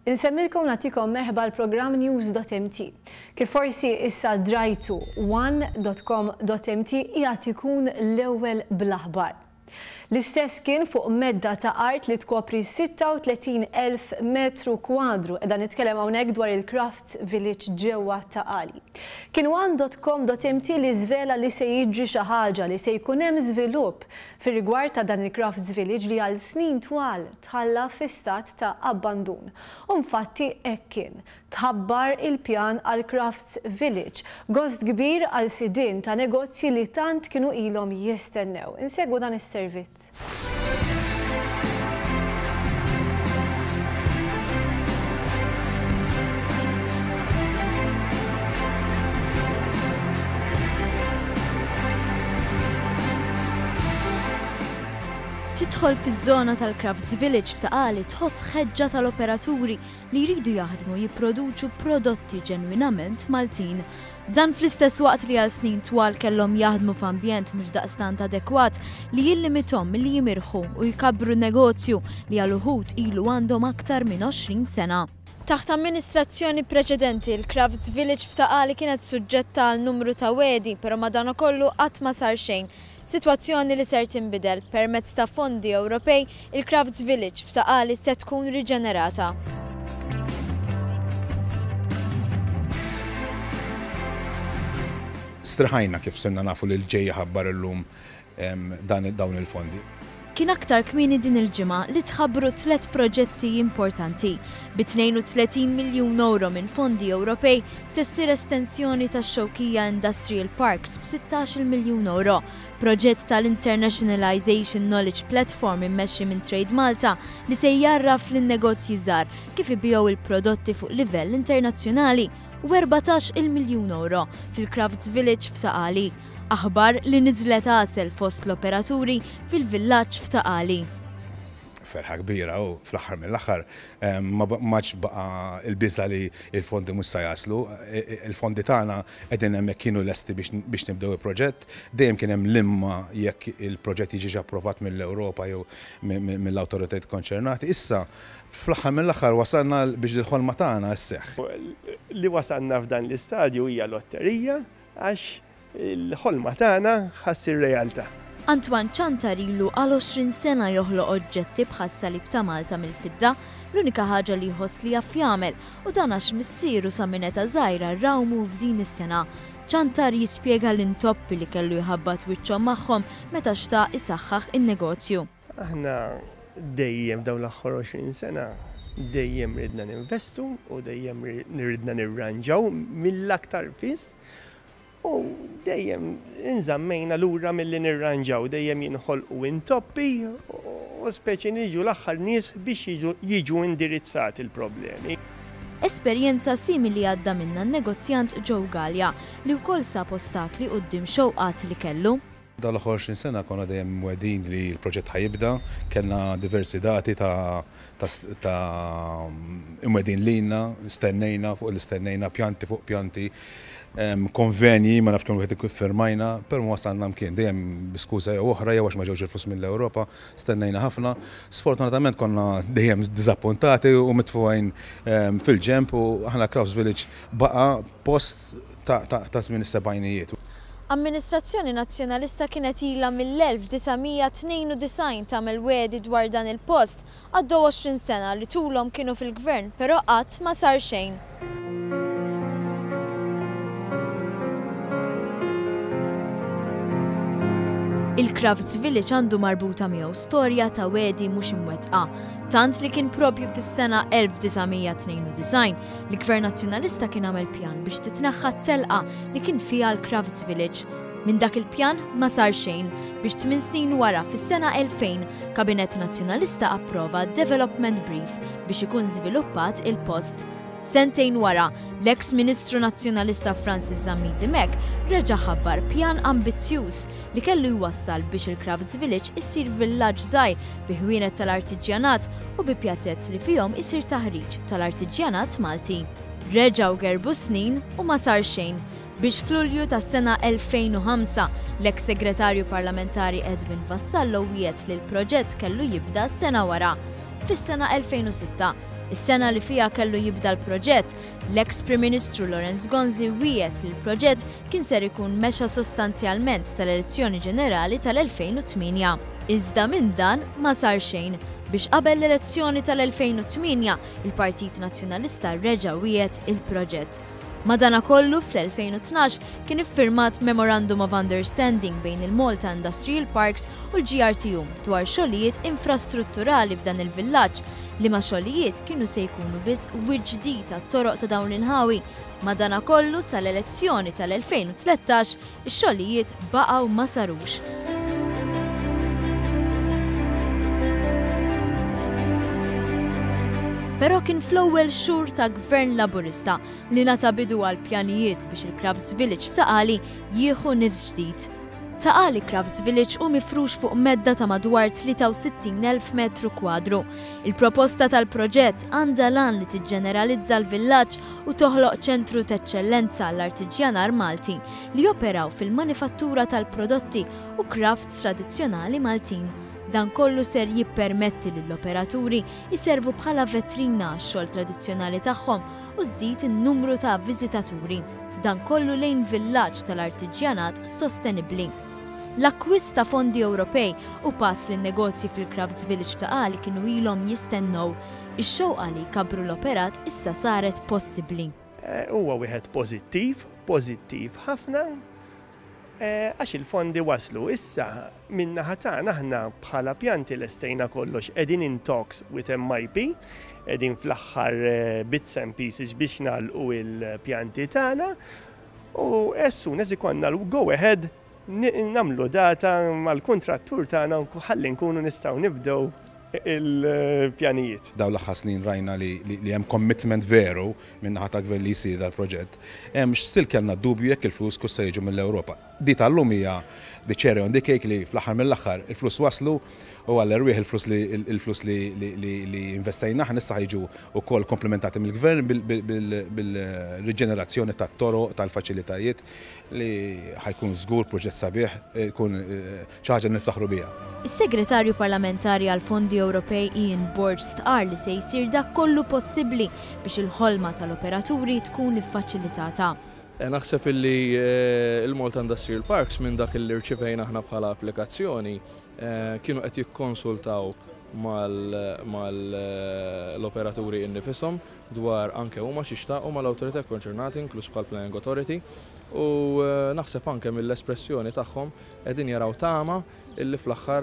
Insemmilkom nagħtikom merħba l-programm News.mt. Kif forsi issa drajtu, one.com.mt qiegħed ikun l-ewwel bl-aħbar. L-istess kien fuq medda ta' art li tkopri 36,000 metru kwadru, qiegħda nitkellem hawnhekk dwar il-Crafts Village ġewwa Ta' Qali. Kien one.com.mt li żvela li se jiġri xi ħaġa, li se jkun hemm żvilupp fir-rigward ta' dan il-Crafts Village li għal snin twal tħalla fi stat ta' abbandun. U nfatti hekk kien. Tħabbar il-pjan għal Crafts Village, gost kbir għal sidien ta' negozji li tant kienu ilhom jistennew. Insegwu dan is-servizz. Tidħol fiż-żona tal-Crafts Village f'Ta' Qali tħoss ħeġġa tal-operaturi li jridu jaħdmu jipproduċu prodotti ġenwinament Maltin. Dan fl-istess waqt li għal snin twal kellhom jaħdmu f'ambjent mhux daqstant adekwat li jillimithom milli jimirħu u jkabbru negozju li għal uħud ilu għandhom aktar minn 20 sena. Taħt amministrazzjoni preċedenti, il-Crafts Village f'Ta' Qali kienet suġġetta għal numru ta' wegħdi, però madankollu qatt ma sar xejn. Sitwazzjoni li ser tinbidel. Permezz ta' fondi Ewropej, il-Crafts Village f'Ta' Qali se tkun riġenerata. Striħajna kif sirna nafu li l-ġej ħabbar illum dawn il-fondi. Kien aktar kmieni din il-ġimgħa li tħabbru tlett proġetti importanti. Bi 32 miljun ewro minn fondi Ewropej se ssir estensjoni tax-Xewkija Industrial Parks b' 16-il miljun ewro, proġett tal-Internationalisation Knowledge Platform immexxi minn Trade Malta li se jgħarraf lin-negozji żgħar kif ibigħu l-prodotti fuq livell internazzjonali u 14-il miljun ewro fil-Crafts Village f'Ta' Qali. Aħbar li niżlet għasel fost l-operaturi fil-villaġġ f'Ta' Qali. Ferħa kbira u fl-aħħar mill-aħħar ma m'għadx baqa' l-biża' li l-fondi mhux se jaslu. Il-fondi tagħna qegħdin hemmhekk kienu lesti biex nibdew il-proġett. Dejjem kien hemm l-imma jekk il-proġett jiġix approvat mill-Ewropa jew mill-awtoritajiet konċernati. Issa fl-aħħar mill-aħħar wasalna biex il-ħolma tagħna sseħħ. Li wasalna f'dan l-istadju hija lotterija għax il-ħolma tagħna ħa ssir realtà. Antoine Ciantar ilu għal 20 sena joħloq oġġetti bħas-salib ta' Malta mill-fidda, l-unika ħaġa li jħoss li jaf jagħmel u dan għax missieru sa minn età żgħira rawmu f'din is-sengħa. Ciantar jispjega l-intoppi li kellu jħabbat wiċċhom magħhom meta xtaq isaħħaħ in-negozju. Aħna dejjem f'dawn l-aħħar 20 sena dejjem ridna ninvestu u dejjem ridna nirranġaw mill-aktar fis u dejjem inżammejna lura milli nirranġaw, dejjem jinħolqu intoppi u speċi niġu l-aħħar nies biex jiġu indirizzati l-problemi. Esperjenza simili għadda minnha n-negozjant Joe Galea li wkoll sab ostakli quddiem xewqat li kellu. Dawn l-aħħar 20 sena konna dejjem mwegħdin li l-proġett ħa jibda, kellna diversi dati ta' ta' imwegħdin lilna, stennejna fuq li stennejna, pjanti fuq pjanti, konvenji ma nafx kemm wieħed iffirmajna, però ma wasalna mkien, dejjem bi skuża jew oħra jew għax ma ġewx il-flus mill-Ewropa, stennejna ħafna. Sfortunatament konna dejjem diżappuntati u mitfugħin fil-ġenb u aħna Crafts Village baqa' post ta' żmien is-sebgħinijiet. Amministrazzjoni Nazzjonalista kienet ilha mill-1992 tagħmel wegħdi dwar dan il-post. Għaddew 20 sena li tulhom kienu fil-Gvern però qatt ma sar xejn. Il-Crafts Village għandu marbuta miegħu storja ta' wegħdi mhux imwettqa, tant li kien propju fis-sena 1992 li Gvern Nazzjonalista kien għamel pjan biex titneħħa t-telqa li kien fiha l-Crafts Village. Minn dak il-pjan ma sar xejn biex tmin snin wara fis-sena 2000 Kabinett Nazzjonalista approva Development Brief biex ikun żviluppat il-post. Sentejn wara, l-eks Ministru Nazzjonalista Francis Zammit Dimech reġa' ħabbar pjan ambizzjuż li kellu jwassal biex il-Crafts Village issir villaġġ żgħir bi ħwienet tal-artiġjanat u bi pjazez li fihom isir taħriġ tal-artiġjanat Malti. Reġgħu gerbu s-snin u ma sar xejn biex f'Lulju tas-sena 2005 l-eks Segretarju Parlamentari Edwin Vassallo wiegħed li l-proġett kellu jibda sena wara. Fis-sena 2006. Is-sena li fiha kellu jibda l-proġett, l-eks Prim Ministru Lawrence Gonzi wiegħed li l-proġett kien ser ikun mexa sostanzjalment sal-elezzjoni ġenerali tal-2008. Iżda minn dan ma sar xejn, biex qabel l-elezzjoni tal-2008, il-Partit Nazzjonalista reġa' wiegħed il-proġett. Madanakollu, fl-2012 kien iffirmat Memorandum of Understanding bejn il-Malta Industrial Parks u l-GRTU dwar xogħlijiet infrastrutturali f'dan il-villaġġ, liema xogħlijiet kienu se jkunu biss wiċċ ġdid għat-toroq ta' dawn l-inħawi. Madanakollu, sal-elezzjoni tal-2013, ix-xogħlijiet baqgħu ma sarux. Però kien fl-ewwel xhur ta' Gvern Laburista li ngħata bidu għal pjanijiet biex il-Crafts Village f'Ta' Qali jieħu nifs ġdid. Ta' Qali Crafts Village hu mifrux fuq medda ta' madwar 63,000 metru kwadru. Il-proposta tal-proġett għandha l-għan li tiġġeneralizza l-villaġġ u toħloq ċentru t'eċċellenza għall-artiġjanar Malti li joperaw fil-manifattura tal-prodotti u crafts tradizzjonali Maltin. Dan kollu ser jippermetti lill-operaturi jservu bħala vetrina għax-xogħol tradizzjonali tagħhom u żżid in-numru ta' viżitaturi. Dan kollu lejn villaġġ tal-artiġjanat sostenibbli. L-akkwist ta' fondi Ewropej hu pass li n-negozji fil-Crafts Village f'Ta' Qali kienu ilhom jistennew. Ix-xewqa li jkabbru l-operat issa saret possibbli. Huwa wieħed pożittiv, pożittiv ħafna, għax il-fondi waslu. Issa, min-naħa tagħna aħna bħala pjanti lestejna kollox, qegħdin in talks with MIP, qegħdin fl-aħħar bits and pieces biex nagħlqu l-pjanti tagħna u as soon as ikollna l-go ahead nagħmlu data mal-kuntrattur tagħna ħalli nkunu nistgħu nibdew il-pjanijiet. Dawn l-aħħar snin rajna li hemm commitment veru min-naħa tal-Gvern li jsir dal-proġett. Still kellna dubju jekk il-flus kux se jiġu mill-Ewropa. Di tal-lum hija the cherry on the cake li fl-aħħar mill-aħħar il-flus waslu u għall-erwieħ il-flus li il-flus li li investejna aħna issa ħa jiġu wkoll komplementati mill-Gvern bil-riġenerazzjoni tat-toroq, tal-faċilitajiet li ħa jkun żgur proġett sabiħ, jkun xi ħaġa li niftaħru biha. Is-Segretarju Parlamentari għall-Fondi Ewropej Ian Borg stqarr li se jsir dak kollu possibbli biex il-ħolma tal-operaturi tkun iffaċilitata. Naħseb illi l-Malta Industrial Parks minn dak illi rċivejna aħna bħala applikazzjoni kienu qed jikkonsultaw mal-operaturi innifishom dwar anke huma x'jixtaqu mal-awtorità kkonċernati inkluż bħall-Planning Authority u naħseb anke mill-espressjoni tagħhom qegħdin jaraw tama illi fl-aħħar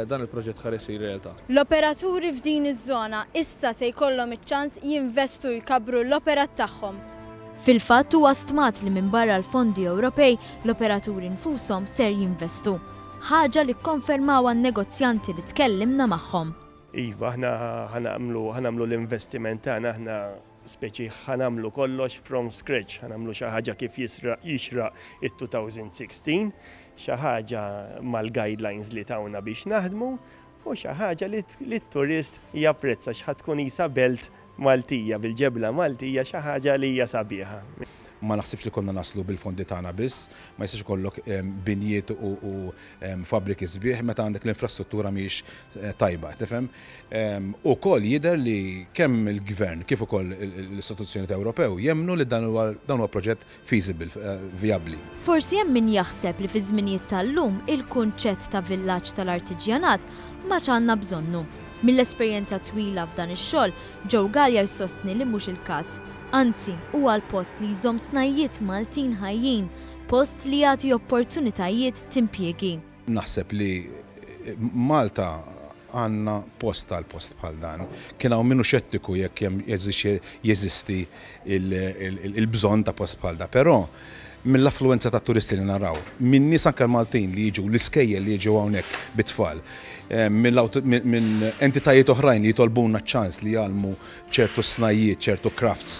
dan il-proġett ħa jsir realtà. L-operaturi f'din iż-żona issa se jkollhom iċ-ċans jinvestu u jkabbru l-operat tagħhom. Fil-fatt huwa stmat li minbarra l-fondi Ewropej, l-operaturi nfushom ser jinvestu. Ħaġa li kkonfermawha n-negozjanti li tkellimna magħhom. Iva, aħna ħa nagħmlu ħa nagħmlu l-investiment tagħna aħna speċi ħa nagħmlu kollox from scratch, ħa nagħmlu xi ħaġa kif jisraq jixraq it-2016, xi ħaġa mal-guidelines li tawna biex naħdmu u xi ħaġa li t-turist japprezza x'ħa tkun qisha belt Maltija, bil-ġebla Maltija, xi ħaġa li hija sabiħa. Ma naħsibx li konna naslu bil-fondi tagħna biss, ma jistax ikollok binjiet u fabbriki sbieħ meta għandek l-infrastruttura mhijiex tajba, tifhem? Ukoll jidher li kemm il-Gvern kif ukoll l-istituzzjonijiet Ewropew jemmnu li dan huwa dan huwa proġett feasible, vijabbli. Forsi hemm min jaħseb li fiż-żminijiet tal-lum il-kunċett ta' villaġġ tal-artiġjanat m'għadx għandna bżonnu. Mill-esperjenza twila f'dan ix-xogħol, Joe Galea jsostni li mhux il-każ. Anzi, huwa l-post li jżomm snajjiet Maltin ħajjin, post li jagħti opportunitajiet t'impjiegi. Naħseb li Malta għandna post għal post bħal dan. Kien hawn min hu xettiku jekk hemm jeżisti il-bżonn ta' post bħal dan, però mill-affluwenza ta' turisti li naraw, minn nies anke l-Maltin li jiġu, l-iskejjel li jiġu hawnhekk bit-tfal, minn entitajiet oħrajn li jitolbuna ċ-ċans li jgħallmu ċertu snajjiet, ċertu crafts.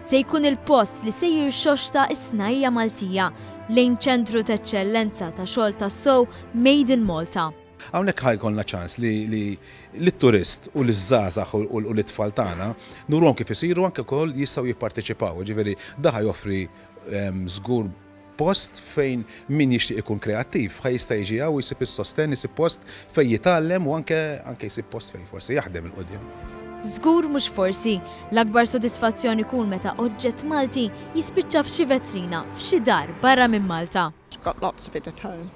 Se jkun il-post li se jirxoxta s-snajja' Maltija lejn ċentru t'eċċellenza ta' xogħol tassew made in Malta. Hawnhekk ħa jkollna ċans li lit-turist u liż-żgħażagħ u lit-tfal tagħna nuruhom kif isiru anke wkoll jistgħu jipparteċipaw. Jiġifieri dan ħa joffri żgur post fejn min jixtieq ikun kreattiv ħa jista' jiġi hawn u jsib is-sostenn, isib post fejn jitgħallem u anke anke jsib post fejn forsi jaħdem 'il quddiem. Żgur mhux forsi, l-akbar sodisfazzjon ikun meta oġġett Malti jispiċċa f'xi vetrina f'xi dar barra minn Malta. Got lots of it at home.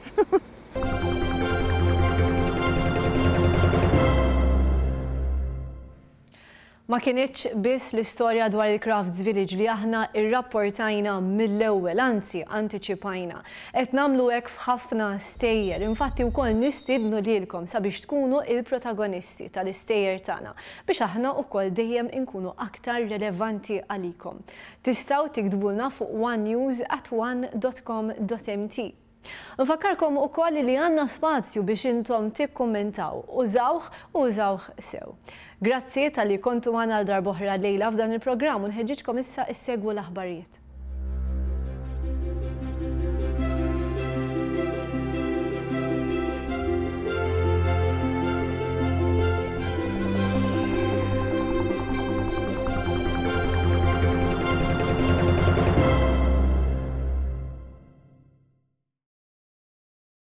Ma kinitx biss l-istorja dwar il-Crafts Village li aħna rrapportajna mill-ewwel, anzi antiċipajna. Qed nagħmlu hekk f'ħafna stejjer, infatti wkoll nistiednu lilkom sabiex tkunu il-protagonisti tal-istejjer tagħna biex aħna wkoll dejjem inkunu aktar relevanti għalikom. Tistgħu tiktbulna fuq onenews at one dot com dot mt. Nfakkarkom ukoll li għandna spazju biex intom tikkummentaw. Użawh u użawh sew. Grazzi talli kontu magħna għal darb'oħra llejla f'dan il-programm u nħeġġiġkom issa issegwu l-aħbarijiet.